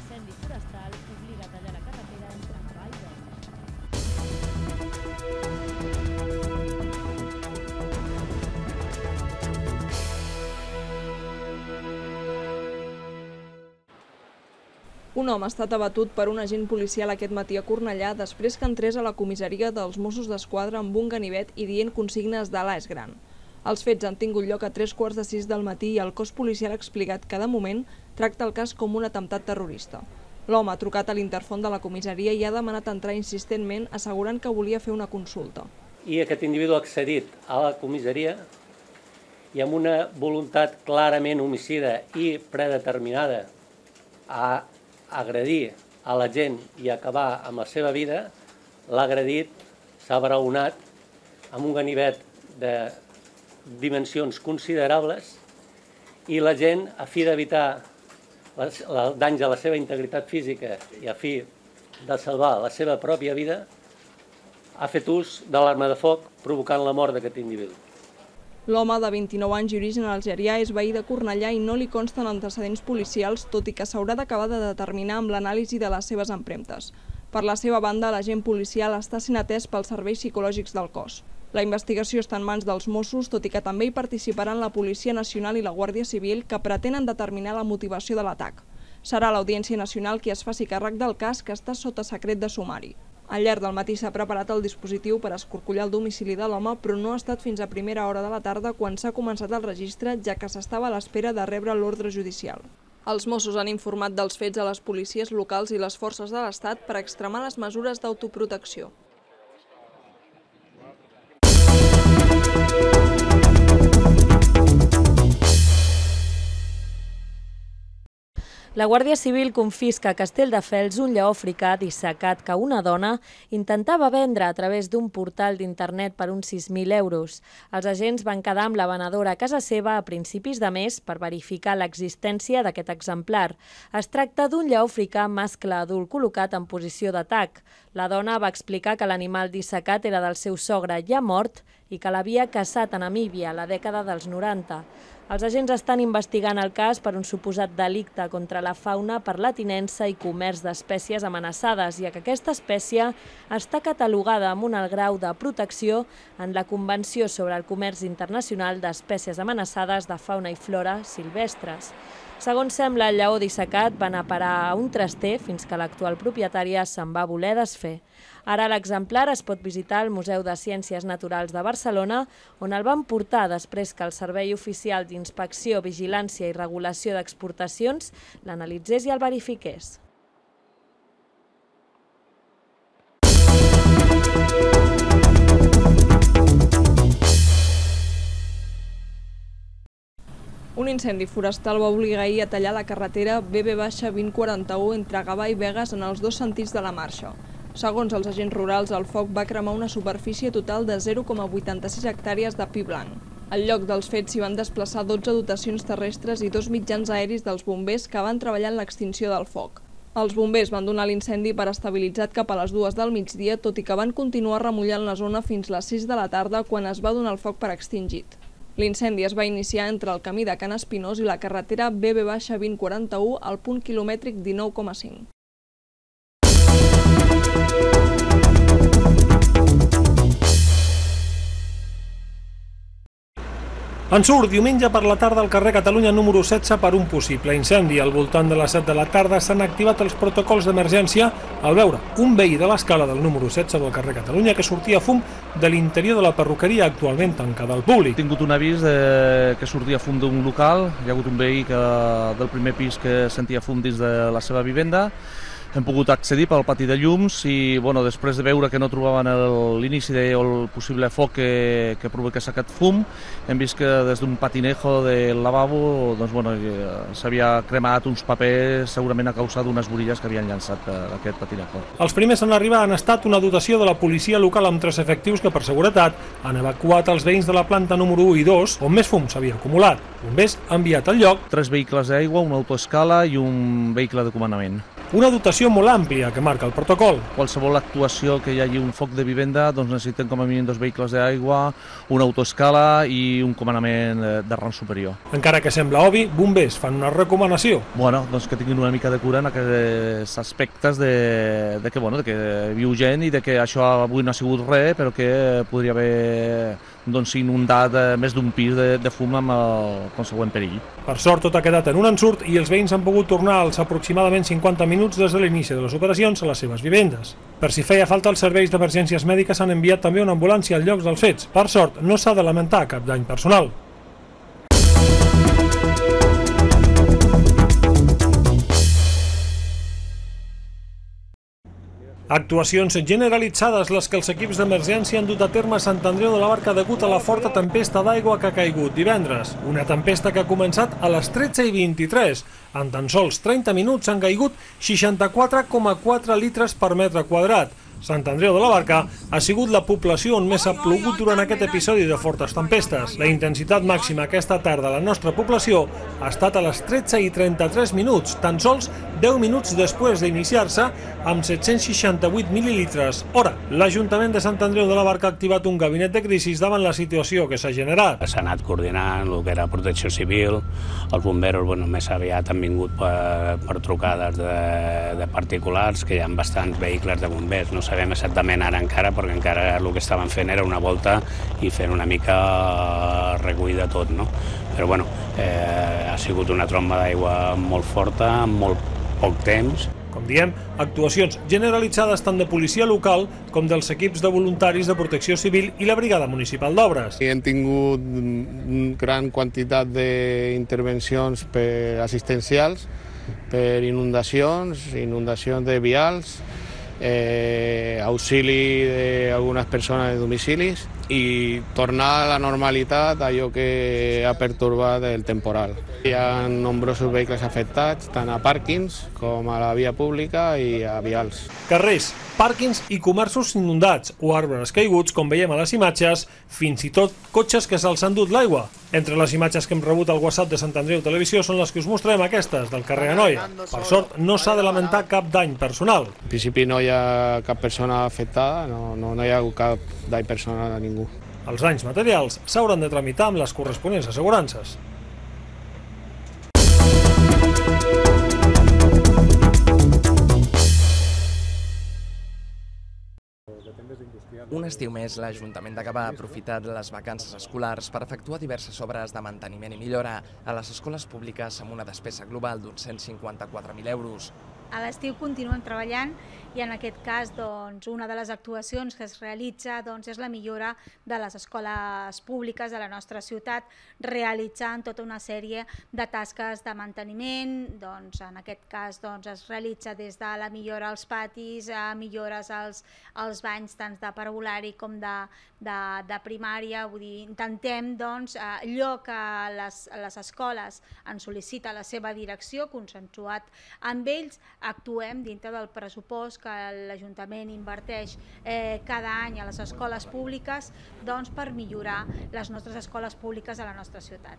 L'incendi forestal obliga a tallar la carretera entre Gavà i Begues. Un home ha estat abatut per un agent policial aquest matí a Cornellà després que entrés a la comissaria dels Mossos d'Esquadra amb un ganivet i dient consignes de l'A és gran. Els fets han tingut lloc a 3:45 del matí i el cos policial ha explicat que, de moment, tracta el cas com un atemptat terrorista. L'home ha trucat a l'interfon de la comissaria i ha demanat entrar insistentment, assegurant que volia fer una consulta. I aquest individu ha accedit a la comissaria i amb una voluntat clarament homicida i predeterminada a agredir a la gent i acabar amb la seva vida, l'ha agredit, s'ha braonat amb un ganivet de dimensions considerables i la gent, a fi d'evitar danys a la seva integritat física i a fi de salvar la seva pròpia vida, ha fet ús de l'arma de foc provocant la mort d'aquest individu. L'home, de 29 anys i origen algerià, és veí de Cornellà i no li consten antecedents policials, tot i que s'haurà d'acabar de determinar amb l'anàlisi de les seves empremtes. Per la seva banda, l'agent policial està sent atès pels serveis psicològics del cos. La investigació està en mans dels Mossos, tot i que també hi participaran la Policia Nacional i la Guàrdia Civil, que pretenen determinar la motivació de l'atac. Serà l'Audiència Nacional qui es faci càrrec del cas, que està sota secret de sumari. Al llarg del matí s'ha preparat el dispositiu per escorcollar el domicili de l'home, però no ha estat fins a primera hora de la tarda quan s'ha començat el registre, ja que s'estava a l'espera de rebre l'ordre judicial. Els Mossos han informat dels fets a les policies locals i les forces de l'Estat per extremar les mesures d'autoprotecció. La Guàrdia Civil confisca a Castelldefels un lleó africà dissecat que una dona intentava vendre a través d'un portal d'internet per uns 6.000 euros. Els agents van quedar amb la venedora a casa seva a principis de mes per verificar l'existència d'aquest exemplar. Es tracta d'un lleó africà mascle adult col·locat en posició d'atac. La dona va explicar que l'animal dissecat era del seu sogre ja mort i que l'havia caçat a Namíbia a la dècada dels 90. Els agents estan investigant el cas per un suposat delicte contra la fauna per la tinença i comerç d'espècies amenaçades, ja que aquesta espècie està catalogada amb un alt grau de protecció en la Convenció sobre el Comerç Internacional d'Espècies Amenaçades de Fauna i Flora Silvestres. Segons sembla, el lleó dissecat va anar a parar a un traster fins que l'actual propietària se'n va voler desfer. Ara l'exemplar es pot visitar al Museu de Ciències Naturals de Barcelona, on el van portar després que el Servei Oficial d'Inspecció, Vigilància i Regulació d'Exportacions l'analitzés i el verifiqués. Un incendi forestal va obligar ahir a tallar la carretera BB-2041 entre Gavà i Begues en els dos sentits de la marxa. Segons els agents rurals, el foc va cremar una superfície total de 0,86 hectàrees de pi blanc. Al lloc dels fets s'hi van desplaçar 12 dotacions terrestres i 2 mitjans aeris dels bombers que van treballar en l'extinció del foc. Els bombers van donar l'incendi per estabilitzat cap a les 2 del migdia, tot i que van continuar remullant la zona fins les 6 de la tarda quan es va donar el foc per extingit. L'incendi es va iniciar entre el camí de Can Espinós i la carretera BB-2041 al punt quilomètric 19,5. En surt diumenge per la tarda al carrer Catalunya número 16 per un possible incendi. Al voltant de les 7 de la tarda s'han activat els protocols d'emergència al veure un veí de l'escala del número 16 del carrer Catalunya que sortia fum de l'interior de la perruqueria actualment tancada al públic. He tingut un avís que sortia fum d'un local, hi ha hagut un veí del primer pis que sentia fum dins de la seva vivenda. Hem pogut accedir pel pati de llums i després de veure que no trobaven l'inici o el possible foc que provoqués aquest fum, hem vist que des d'un patinejo del lavabo s'havia cremat uns papers segurament a causa d'unes borilles que havien llançat d'aquest patinejo. Els primers en arribar han estat una dotació de la policia local amb 3 efectius que per seguretat han evacuat els veïns de la planta número 1 i 2 on més fum s'havia acumulat. Bombers han enviat al lloc 3 vehicles d'aigua, una autoescala i un vehicle de comandament. una dotació molt àmplia que marca el protocol. Qualsevol actuació que hi hagi un foc de vivenda doncs necessiten com a mínim 2 vehicles d'aigua, una autoescala i un comandament de rang superior. Encara que sembla obvi, bombers fan una recomanació. Bueno, doncs que tinguin una mica de cura en aquests aspectes de que viu gent i de que això avui no ha sigut res, però que podria haver inundat més d'un pis de fum amb el consegüent perill. Per sort, tot ha quedat en un ensurt i els veïns han pogut tornar als aproximadament 50 minuts des de l'inici de les operacions a les seves vivendes. Per si feia falta, els serveis d'emergències mèdiques han enviat també una ambulància al lloc dels fets. Per sort, no s'ha de lamentar cap dany personal. Actuacions generalitzades les que els equips d'emergència han dut a terme a Sant Andreu de la Barca degut a la forta tempesta d'aigua que ha caigut divendres. Una tempesta que ha començat a les 13:23. En tan sols 30 minuts han caigut 64,4 litres per metre quadrat. Sant Andreu de la Barca ha sigut la població on més ha plogut durant aquest episodi de fortes tempestes. La intensitat màxima aquesta tarda a la nostra població ha estat a les 13:33 minuts, tan sols 10 minuts després d'iniciar-se, amb 768 mil·lilitres hora. L'Ajuntament de Sant Andreu de la Barca ha activat un gabinet de crisis davant la situació que s'ha generat. S'ha anat coordinant el que era protecció civil, els bomberos més aviat han vingut per trucades de particulars, que hi ha bastants vehicles de bombers. No sabem exactament ara encara, perquè encara el que estaven fent era una volta i fent una mica recull de tot, no? Però bueno, ha sigut una tromba d'aigua molt forta, en molt poc temps. Com diem, actuacions generalitzades tant de policia local com dels equips de voluntaris de protecció civil i la brigada municipal d'obres. Hem tingut gran quantitat d'intervencions assistencials per inundacions de vials, auxili d'algunes persones de domicilis i tornar a la normalitat allò que ha pertorbat el temporal. Hi ha nombrosos vehicles afectats, tant a pàrquings com a la via pública i a vials. Carrers, pàrquings i comerços inundats o arbres caiguts, com veiem a les imatges, fins i tot cotxes que se'ls han dut l'aigua. Entre les imatges que hem rebut al WhatsApp de Sant Andreu Televisió són les que us mostrem aquestes, del carrer Anoia. Per sort, no s'ha de lamentar cap dany personal. En principi no hi ha cap persona afectada, no hi ha cap dany personal a ningú. Els danys materials s'hauran de tramitar amb les corresponents assegurances. Un estiu més, l'Ajuntament de Gavà ha aprofitat les vacances escolars per efectuar diverses obres de manteniment i millora a les escoles públiques amb una despesa global d'uns 154.000 euros. A l'estiu continuem treballant i en aquest cas una de les actuacions que es realitza és la millora de les escoles públiques de la nostra ciutat, realitzant tota una sèrie de tasques de manteniment. En aquest cas es realitza des de la millora als patis, millores als banys tant de parvulari com de primària. Vull dir, intentem allò que les escoles ens sol·licita la seva direcció, consensuat amb ells, actuem dintre del pressupost que l'Ajuntament inverteix cada any a les escoles públiques per millorar les nostres escoles públiques a la nostra ciutat.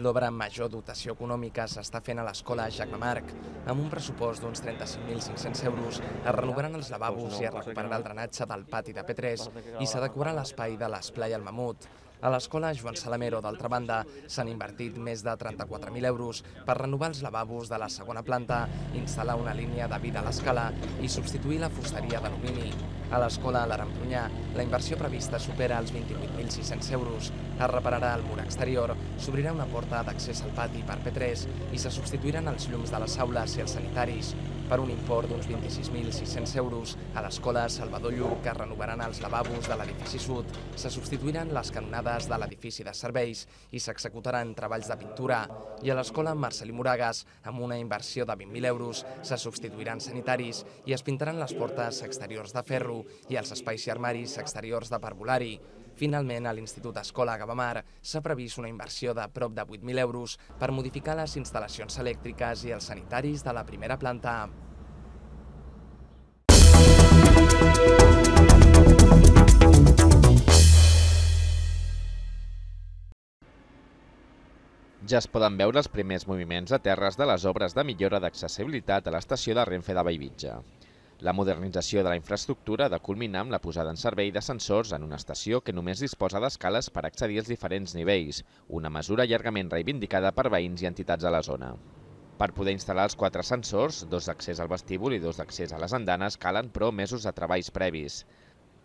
L'obra amb major dotació econòmica s'està fent a l'escola Jacme Marc. Amb un pressupost d'uns 35.500 euros es renovaran els lavabos i es recuperarà el drenatge del pati de P3 i s'adequarà l'espai de l'esplai al Mamut. A l'escola Joan Salamero, d'altra banda, s'han invertit més de 34.000 euros per renovar els lavabos de la segona planta, instal·lar una línia de vida a l'escala i substituir la fusteria d'alumini. A l'escola l'Aremprunyà, la inversió prevista supera els 28.600 euros. Es repararà el mur exterior, s'obrirà una porta d'accés al pati per P3 i se substituiran els llums de les aules i els sanitaris. Per un import d'uns 26.600 euros, a l'escola Salvador Lluc es renovaran els lavabos de l'edifici sud, se substituiran les canonades de l'edifici de serveis i s'executaran treballs de pintura. I a l'escola Marcelí Moragas, amb una inversió de 20.000 euros, se substituiran sanitaris i es pintaran les portes exteriors de ferro i els espais i armaris exteriors de parvulari. Finalment, a l'Institut Escola Gavamar s'ha previst una inversió de prop de 8.000 euros per modificar les instal·lacions elèctriques i els sanitaris de la primera planta. Ja es poden veure els primers moviments a terres de les obres de millora d'accessibilitat a l'estació de Renfe de Bellvitge. La modernització de la infraestructura ha de culminar amb la posada en servei d'ascensors en una estació que només disposa d'escales per accedir als diferents nivells, una mesura llargament reivindicada per veïns i entitats a la zona. Per poder instal·lar els 4 ascensors, 2 d'accés al vestíbul i 2 d'accés a les andanes, calen però mesos de treballs previs.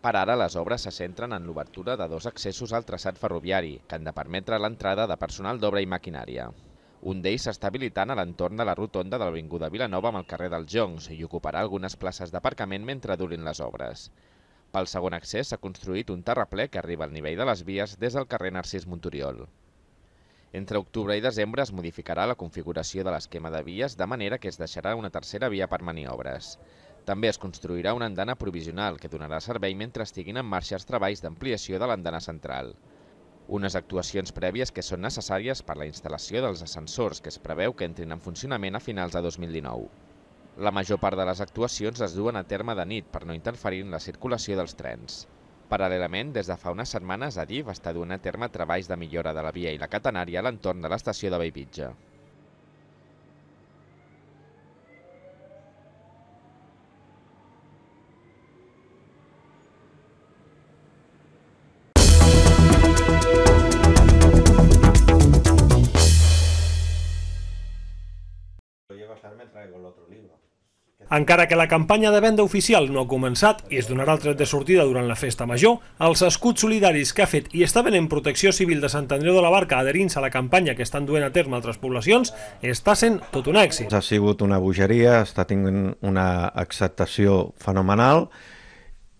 Per ara, les obres se centren en l'obertura de 2 accessos al traçat ferroviari, que han de permetre l'entrada de personal d'obra i maquinària. Un d'ells s'està habilitant a l'entorn de la rotonda de l'Avinguda Vilanova amb el carrer dels Joncs i ocuparà algunes places d'aparcament mentre durin les obres. Pel segon accés s'ha construït un terraplè que arriba al nivell de les vies des del carrer Narcís Montoriol. Entre octubre i desembre es modificarà la configuració de l'esquema de vies de manera que es deixarà una tercera via per maniobres. També es construirà una andana provisional que donarà servei mentre estiguin en marxa els treballs d'ampliació de l'andana central. Unes actuacions prèvies que són necessàries per la instal·lació dels ascensors que es preveu que entrin en funcionament a finals de 2019. La major part de les actuacions es duen a terme de nit per no interferir en la circulació dels trens. Paral·lelament, des de fa unes setmanes, Adif està duent a terme treballs de millora de la via i la catenària a l'entorn de l'estació de Bellvitge. Encara que la campanya de venda oficial no ha començat i es donarà el tret de sortida durant la festa major, els escuts solidaris que ha fet i està venent Protecció Civil de Sant Andreu de la Barca adherint-se a la campanya que estan duent a terme altres poblacions està sent tot un èxit. Ha sigut una bogeria, està tinguent una acceptació fenomenal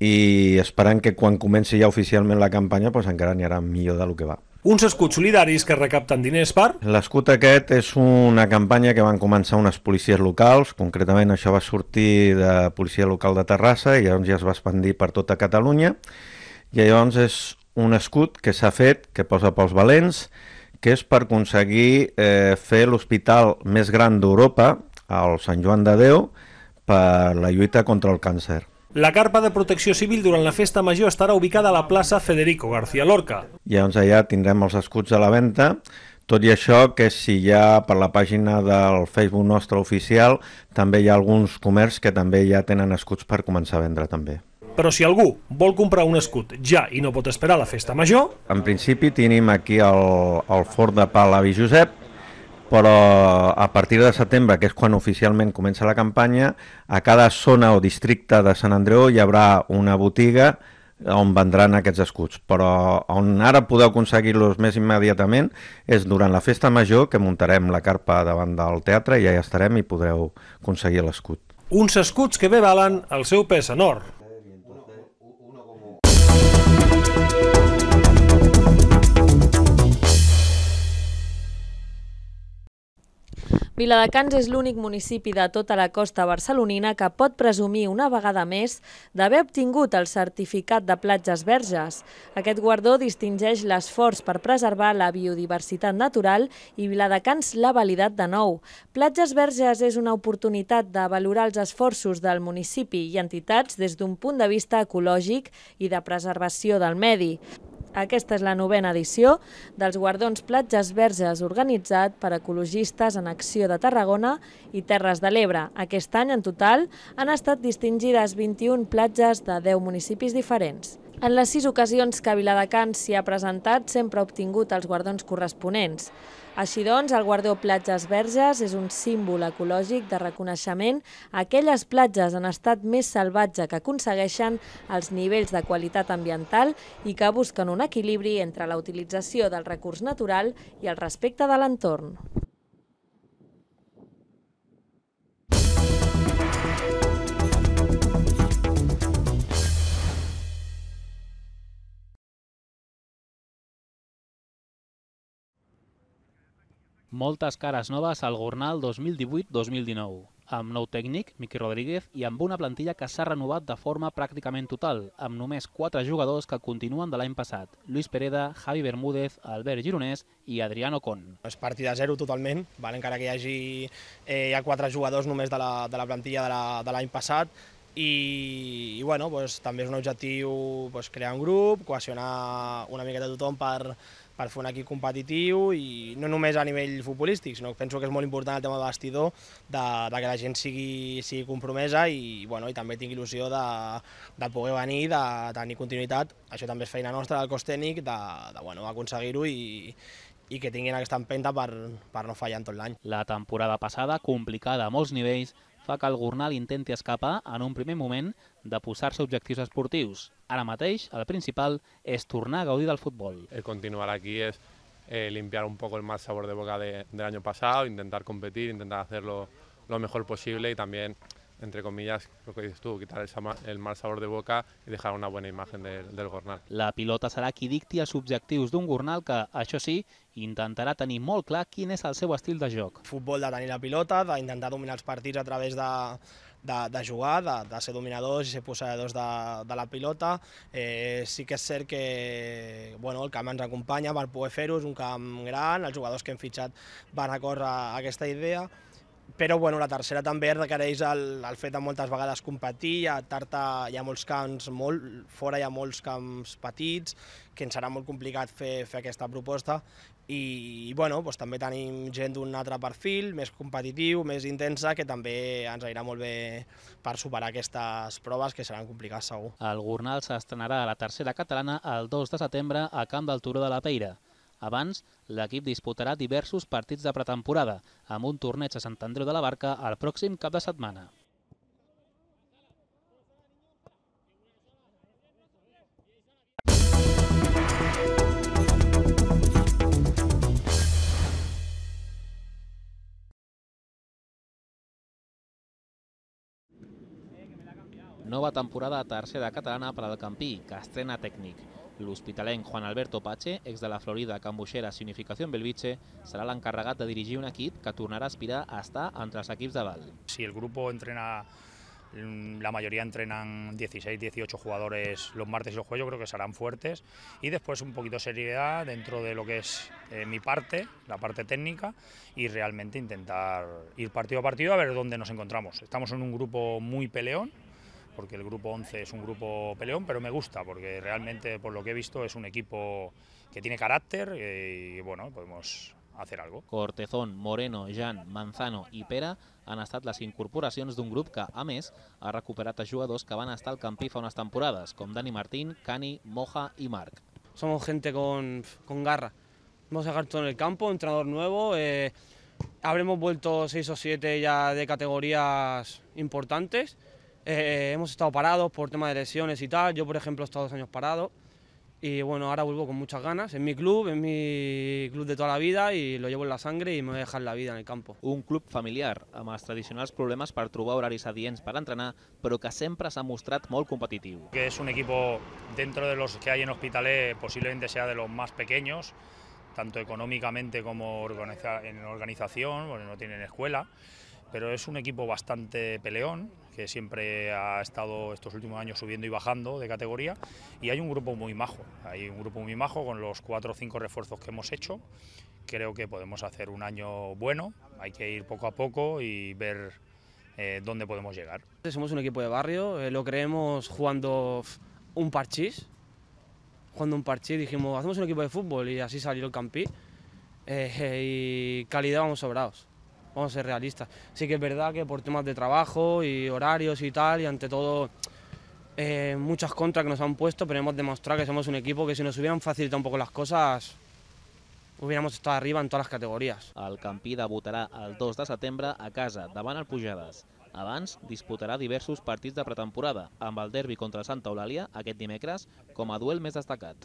i esperant que quan comenci ja oficialment la campanya encara anirà millor del que va. Uns escuts solidaris que recapten diners per... L'escut aquest és una campanya que van començar unes policies locals, concretament això va sortir de policia local de Terrassa i llavors ja es va expandir per tota Catalunya i llavors és un escut que s'ha fet, que posa pels valents, que és per aconseguir fer l'hospital més gran d'Europa, el Sant Joan de Déu, per la lluita contra el càncer. La carpa de Protecció Civil durant la festa major estarà ubicada a la plaça Federico García Lorca. Llavors allà tindrem els escuts a la venda, tot i això que si ja per la pàgina del Facebook nostre oficial també hi ha alguns comerços que també ja tenen escuts per començar a vendre també. Però si algú vol comprar un escut ja i no pot esperar la festa major... En principi tenim aquí el forn de pa l'Avi Josep, però a partir de setembre, que és quan oficialment comença la campanya, a cada zona o districte de Sant Andreu hi haurà una botiga on vendran aquests escuts, però on ara podeu aconseguir-los més immediatament és durant la festa major, que muntarem la carpa davant del teatre i ja hi estarem i podreu aconseguir l'escut. Uns escuts que bé valen el seu pes en or. Viladecans és l'únic municipi de tota la costa barcelonina que pot presumir una vegada més d'haver obtingut el certificat de platges verges. Aquest guardó distingeix l'esforç per preservar la biodiversitat natural i Viladecans l'ha validat de nou. Platges verges és una oportunitat de valorar els esforços del municipi i entitats des d'un punt de vista ecològic i de preservació del medi. Aquesta és la 9a edició dels guardons Platges Verges organitzat per Ecologistes en Acció de Tarragona i Terres de l'Ebre. Aquest any, en total, han estat distingides 21 platges de 10 municipis diferents. En les 6 ocasions que Viladecans s'hi ha presentat, sempre ha obtingut els guardons corresponents. Així doncs, el guardó Platges Verges és un símbol ecològic de reconeixement a aquelles platges en estat més salvatge que aconsegueixen els nivells de qualitat ambiental i que busquen un equilibri entre la utilització del recurs natural i el respecte de l'entorn. Moltes cares noves al Gornal 2018-2019, amb nou tècnic, Miqui Rodríguez, i amb una plantilla que s'ha renovat de forma pràcticament total, amb només 4 jugadors que continuen de l'any passat: Luis Pereda, Javi Bermúdez, Albert Gironès i Adrián Ocon. És partit de zero totalment, encara que hi ha 4 jugadors només de la plantilla de l'any passat, i també és un objectiu crear un grup, cohesionar una miqueta tothom per per fer un equip competitiu i no només a nivell futbolístic, sinó que penso que és molt important el tema de vestidor, de que la gent sigui compromesa i també tingui il·lusió de poder venir, de tenir continuïtat. Això també és feina nostra del cos tècnic, d'aconseguir-ho i que tinguin aquesta empenta per no fallar en tot l'any. La temporada passada, complicada a molts nivells, fa que el Gornal intenti escapar en un primer moment de posar-se objectius esportius. Ara mateix, el principal és tornar a gaudir del futbol. El continuar aquí es limpiar un poco el mal sabor de boca del año pasado, intentar competir, intentar hacerlo lo mejor posible y también, entre comillas, lo que dices tú, quitar el mal sabor de boca i dejar una bona imagen del Gornal. La pilota serà qui dicti els objectius d'un Gornal que, això sí, intentarà tenir molt clar quin és el seu estil de joc. Futbol de tenir la pilota, d'intentar dominar els partits a través de jugar, de ser dominadors i ser possedors de la pilota. Sí que és cert que el camp ens acompanya per poder fer-ho, és un camp gran, els jugadors que hem fitxat van a córrer a aquesta idea, però la tercera també requereix el fet de moltes vegades competir, hi ha molts camps, fora hi ha molts camps petits, que ens serà molt complicat fer aquesta proposta i també tenim gent d'un altre perfil, més competitiu, més intensa, que també ens anirà molt bé per superar aquestes proves que seran complicades segur. El Gornal s'estrenarà a la tercera catalana el 2 de setembre a Camp del Turó de la Peira. Abans, l'equip disputarà diversos partits de pretemporada, amb un torneig a Sant Andreu de la Barca el pròxim cap de setmana. Nova temporada a tercera catalana per al Campí, que estrena tècnic. L'hospitalenc Juan Alberto Pache, ex de la Florida, Cambucheras i Unificación Belviche, serà l'encarregat de dirigir un equip que tornarà a aspirar a estar entre els equips de dalt. Si el grupo entrena, la mayoría entrenan 16, 18 jugadores los martes y los jueves, yo creo que serán fuertes. Y después un poquito de seriedad dentro de lo que es mi parte, la parte técnica, y realmente intentar ir partido a partido a ver dónde nos encontramos. Estamos en un grupo muy peleón, porque el grupo 11 es un grupo peleón, pero me gusta, porque realmente, por lo que he visto, es un equipo que tiene carácter y podemos hacer algo. Cortezón, Moreno, Jan, Manzano i Pere han estat les incorporacions d'un grup que, a més, ha recuperat a jugadors que van estar al Campí fa unes temporades, com Dani Martín, Cani, Moja i Marc. Somos gente con garra. Vamos a dejar todo en el campo, entrenador nuevo. Habremos vuelto 6 o 7 ya de categorías importantes. Hemos estado parados por tema de lesiones y tal. Yo, por ejemplo, he estado 2 años parado y ahora vuelvo con muchas ganas. Es mi club de toda la vida y lo llevo en la sangre y me voy a dejar la vida en el campo. Un club familiar, amb els tradicionals problemes per trobar horaris adients per entrenar, però que sempre s'ha mostrat molt competitiu. Que es un equipo, dentro de los que hay en Hospitalet, posiblemente sea de los más pequeños, tanto económicamente como en organización, porque no tienen escuela. Pero es un equipo bastante peleón, que siempre ha estado estos últimos años subiendo y bajando de categoría, y hay un grupo muy majo, con los 4 o 5 refuerzos que hemos hecho. Creo que podemos hacer un año bueno, hay que ir poco a poco y ver dónde podemos llegar. Somos un equipo de barrio, lo creemos jugando un parchís, dijimos hacemos un equipo de fútbol y así salió el Campí, y calidad vamos sobrados. Vamos a ser realistas. Sí que es verdad que por temas de trabajo y horarios y tal, y ante todo muchas contras que nos han puesto, pero hemos demostrado que somos un equipo que si nos hubieran facilitado un poco las cosas, hubiéramos estado arriba en todas les categories. El Campí debutarà el 2 de setembre a casa, davant el Pujades. Abans, disputarà diversos partits de pretemporada, amb el derbi contra Santa Eulàlia aquest dimecres com a duel més destacat.